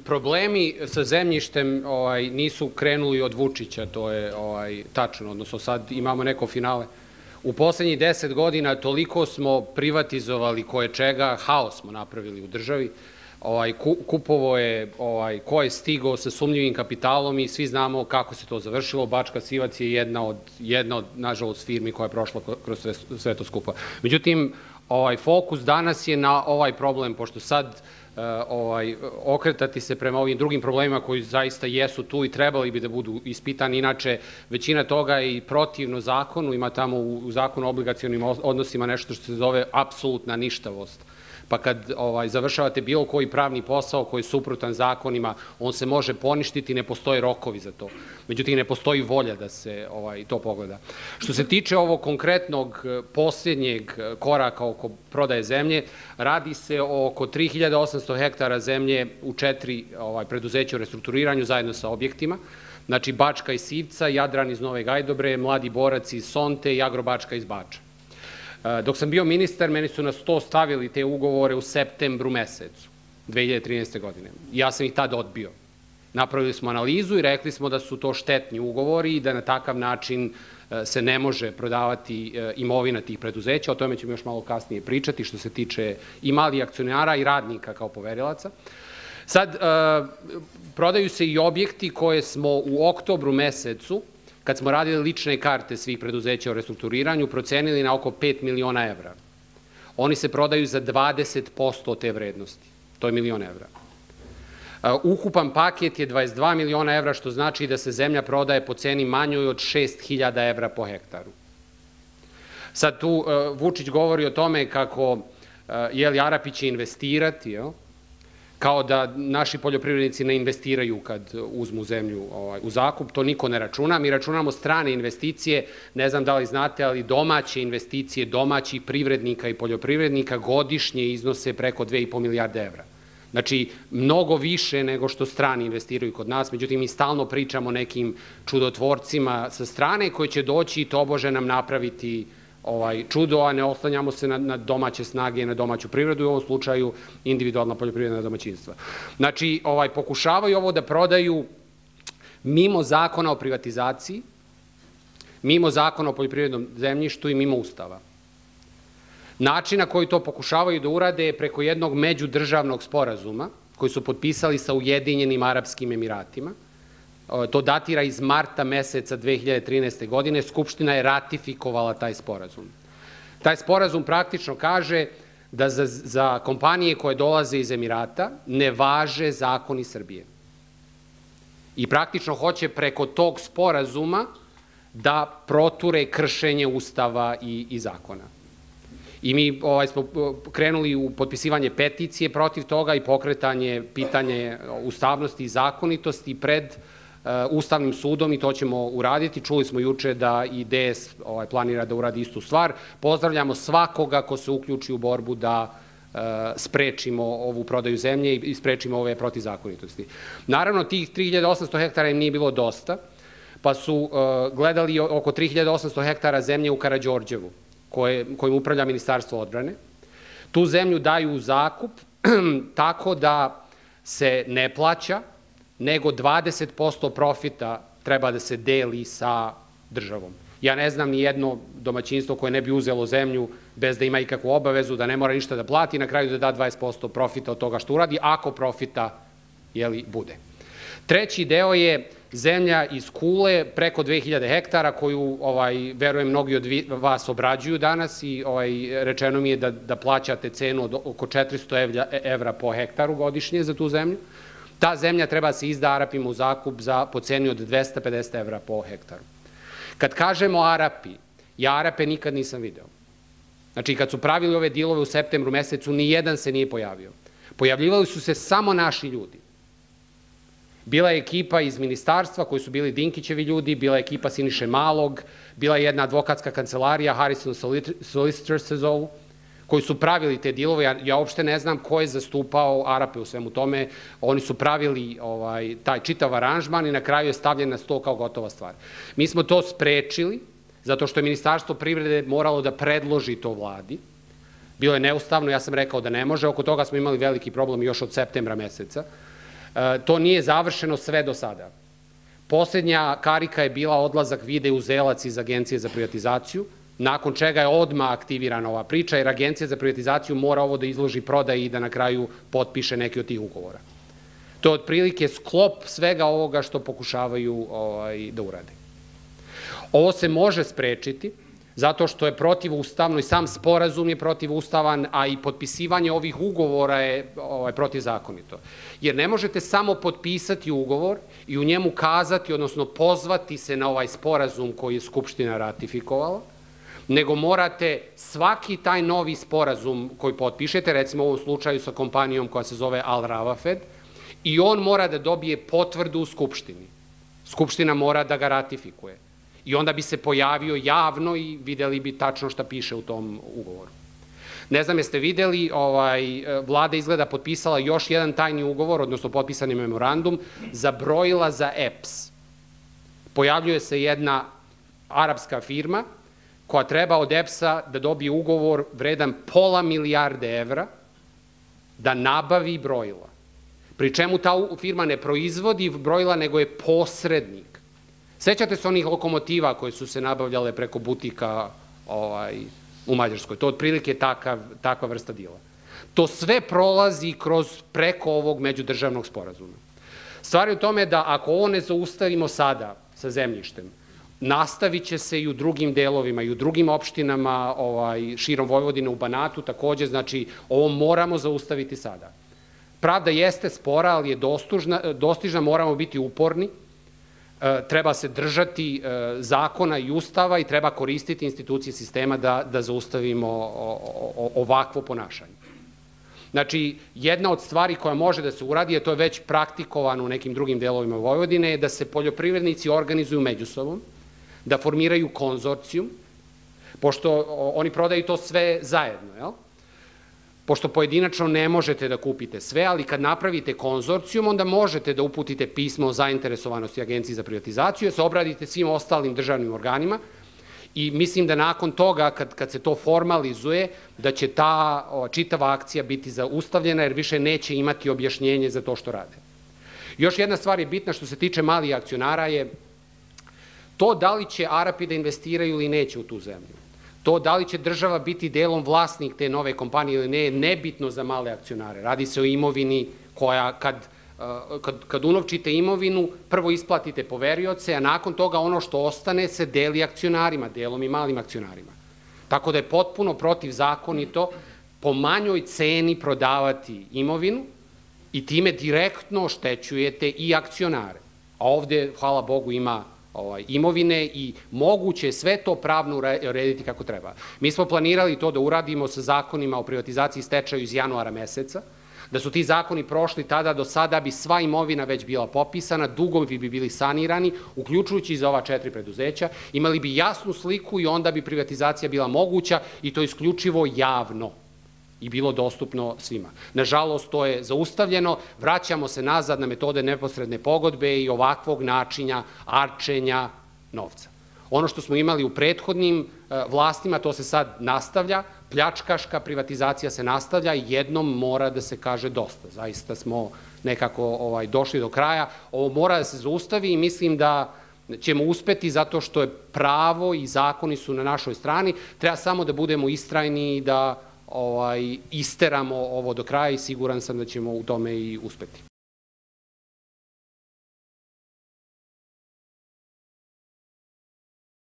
Problemi sa zemljištem nisu krenuli od Vučića, to je tačno, odnosno sad imamo neko finale. U poslednjih 10 godina toliko smo privatizovali koje čega, haos smo napravili u državi. Kupovo je, ko je stigao sa sumnjivim kapitalom i svi znamo kako se to završilo. Bačka Sivac je jedna od, nažalost, firmi koja je prošla kroz sve to skupa. Međutim, fokus danas je na ovaj problem, pošto sad okretati se prema ovim drugim problemima koji zaista jesu tu i trebali bi da budu ispitani. Inače, većina toga je i protivno zakonu, ima tamo u zakonu o obligacionim odnosima nešto što se zove apsolutna ništavost. Pa kad završavate bilo koji pravni posao koji je suprotan zakonima, on se može poništiti, ne postoje rokovi za to. Međutim, ne postoji volja da se to pogleda. Što se tiče ovog konkretnog posljednjeg koraka oko prodaje zemlje, radi se o oko 3800 hektara zemlje u 4 preduzeća u restrukturiranju zajedno sa objektima. Znači, Bačka iz Sivca, Jadran iz Nove Gajdobre, Mladi borac iz Sonte i Agrobačka iz Bača. Dok sam bio ministar, meni su na sto stavili te ugovore u septembru mesecu 2013. godine. Ja sam ih tada odbio. Napravili smo analizu i rekli smo da su to štetni ugovori i da na takav način se ne može prodavati imovina tih preduzeća. O tome ćemo još malo kasnije pričati što se tiče i malih akcionara i radnika kao poverilaca. Sad, prodaju se i objekti koje smo u oktobru mesecu, kad smo radili lične karte svih preduzeća o restrukturiranju, procenili na oko 5 miliona evra. Oni se prodaju za 20% te vrednosti. To je milion evra. Ukupan paket je 22 miliona evra, što znači da se zemlja prodaje po ceni manjoj od 6.000 evra po hektaru. Sad tu Vučić govori o tome kako Arapi će investirati, kao da naši poljoprivrednici ne investiraju kad uzmu zemlju u zakup. To niko ne računa. Mi računamo strane investicije, ne znam da li znate, ali domaće investicije domaćih privrednika i poljoprivrednika godišnje iznose preko 2,5 milijarde evra. Znači, mnogo više nego što strani investiraju kod nas, međutim, mi stalno pričamo o nekim čudotvorcima sa strane koji će doći i tobože nam napraviti čudo, a ne oslanjamo se na domaće snage i na domaću privredu, i u ovom slučaju individualna poljoprivredna domaćinstva. Znači, pokušavaju ovo da prodaju mimo zakona o privatizaciji, mimo zakona o poljoprivrednom zemljištu i mimo Ustava. Način na koji to pokušavaju da urade je preko jednog međudržavnog sporazuma koji su potpisali sa Ujedinjenim Arapskim Emiratima. To datira iz marta meseca 2013. godine. Skupština je ratifikovala taj sporazum. Taj sporazum praktično kaže da za kompanije koje dolaze iz Emirata ne važe zakoni Srbije. I praktično hoće preko tog sporazuma da proture kršenje Ustava i zakona. I mi smo krenuli u potpisivanje peticije protiv toga i pokretanje pitanje ustavnosti i zakonitosti pred Ustavnim sudom, i to ćemo uraditi. Čuli smo juče da i DS planira da uradi istu stvar. Pozdravljamo svakoga ko se uključi u borbu da sprečimo ovu prodaju zemlje i sprečimo ove protivzakonitosti. Naravno, tih 3800 hektara im nije bilo dosta, pa su gledali oko 3800 hektara zemlje u Karađorđevu, kojim upravlja Ministarstvo odbrane. Tu zemlju daju u zakup tako da se ne plaća, nego 20% profita treba da se deli sa državom. Ja ne znam ni jedno domaćinstvo koje ne bi uzelo zemlju bez da ima ikakvu obavezu, da ne mora ništa da plati, na kraju da da 20% profita od toga što uradi, ako profita bude. Treći deo je zemlja iz Kule, preko 2000 hektara, koju, verujem, mnogi od vas obrađuju danas, i rečeno mi je da plaćate cenu od oko 400 evra po hektaru godišnje za tu zemlju. Ta zemlja treba da se izda Arapima u zakup po ceni od 250 evra po hektaru. Kad kažemo Arapi, ja Arape nikad nisam video. Znači, kad su pravili ove dilove u septembru mesecu, ni jedan se nije pojavio. Pojavljivali su se samo naši ljudi. Bila je ekipa iz ministarstva koji su bili Dinkićevi ljudi, bila je ekipa Siniše Malog, bila je jedna advokatska kancelarija, Harrison Solicitors se zovu, koji su pravili te dilove. Ja uopšte ne znam ko je zastupao Arape u svemu tome. Oni su pravili taj čitav aranžman i na kraju je stavljen na sto kao gotova stvar. Mi smo to sprečili, zato što je Ministarstvo privrede moralo da predloži to vladi. Bilo je neustavno, ja sam rekao da ne može. Oko toga smo imali veliki problem još od septembra meseca. To nije završeno sve do sada. Poslednja karika je bila odlazak Vide Uzelac iz Agencije za privatizaciju, nakon čega je odmah aktivirana ova priča, jer Agencija za privatizaciju mora ovo da izloži prodaji i da na kraju potpiše neki od tih ugovora. To je otprilike sklop svega ovoga što pokušavaju da urade. Ovo se može sprečiti, zato što je protivustavno i sam sporazum je protivustavan, a i potpisivanje ovih ugovora je protivzakonito. Jer ne možete samo potpisati ugovor i u njemu kazati, odnosno pozvati se na ovaj sporazum koji je Skupština ratifikovala, nego morate svaki taj novi sporazum koji potpišete, recimo u ovom slučaju sa kompanijom koja se zove Al Rawafed, i on mora da dobije potvrdu u Skupštini. Skupština mora da ga ratifikuje. I onda bi se pojavio javno i videli bi tačno šta piše u tom ugovoru. Ne znam, jeste videli, vlada izgleda potpisala još jedan tajni ugovor, odnosno potpisani memorandum, za brojila za EPS. Pojavljuje se jedna arapska firma koja treba od EPS-a da dobije ugovor vredan $500 milijarde da nabavi brojila. Pri čemu ta firma ne proizvodi brojila, nego je posrednik. Sećate se onih lokomotiva koje su se nabavljale preko butika u Mađarskoj? To je otprilike takva vrsta dila. To sve prolazi preko ovog međudržavnog sporazuma. Stvar je u tome da ako ovo ne zaustavimo sada sa zemljištem, nastavit će se i u drugim delovima, i u drugim opštinama širom Vojvodine, u Banatu takođe, znači ovo moramo zaustaviti sada. Pravda jeste spora, ali je dostižna, moramo biti uporni, treba se držati zakona i ustava i treba koristiti institucije sistema da zaustavimo ovakvo ponašanje. Znači, jedna od stvari koja može da se uradi, a to je već praktikovano u nekim drugim delovima Vojvodine, je da se poljoprivrednici organizuju međusobom, da formiraju konzorcijum, pošto oni prodaju to sve zajedno, jel? Pošto pojedinačno ne možete da kupite sve, ali kad napravite konzorcijum, onda možete da uputite pismo o zainteresovanosti Agenciji za privatizaciju, da se obradite svim ostalim državnim organima i mislim da nakon toga, kad se to formalizuje, da će ta čitava akcija biti zaustavljena, jer više neće imati objašnjenje za to što rade. Još jedna stvar je bitna što se tiče malih akcionara je to da li će Arapi da investiraju ili neće u tu zemlju. To da li će država biti delom vlasnik te nove kompanije ili ne je nebitno za male akcionare. Radi se o imovini koja, kad unovčite imovinu, prvo isplatite poverioce, a nakon toga ono što ostane se deli akcionarima, delom i malim akcionarima. Tako da je potpuno protivzakonito po manjoj ceni prodavati imovinu i time direktno oštećujete i akcionare. A ovde, hvala Bogu, ima imovine i moguće je sve to pravno urediti kako treba. Mi smo planirali to da uradimo sa zakonima o privatizaciji i stečaju iz januara meseca, da su ti zakoni prošli tada, do sada bi sva imovina već bila popisana, dugovi bi bili sanirani, uključujući i za ova 4 preduzeća, imali bi jasnu sliku i onda bi privatizacija bila moguća i to isključivo javno i bilo dostupno svima. Nažalost, to je zaustavljeno, vraćamo se nazad na metode neposredne pogodbe i ovakvog načina arčenja novca. Ono što smo imali u prethodnim vlastima, to se sad nastavlja, pljačkaška privatizacija se nastavlja i jednom mora da se kaže dosta. Zaista smo nekako došli do kraja. Ovo mora da se zaustavi i mislim da ćemo uspeti zato što je pravo i zakoni su na našoj strani. Treba samo da budemo istrajni i da isteramo ovo do kraja i siguran sam da ćemo u tome i uspeti.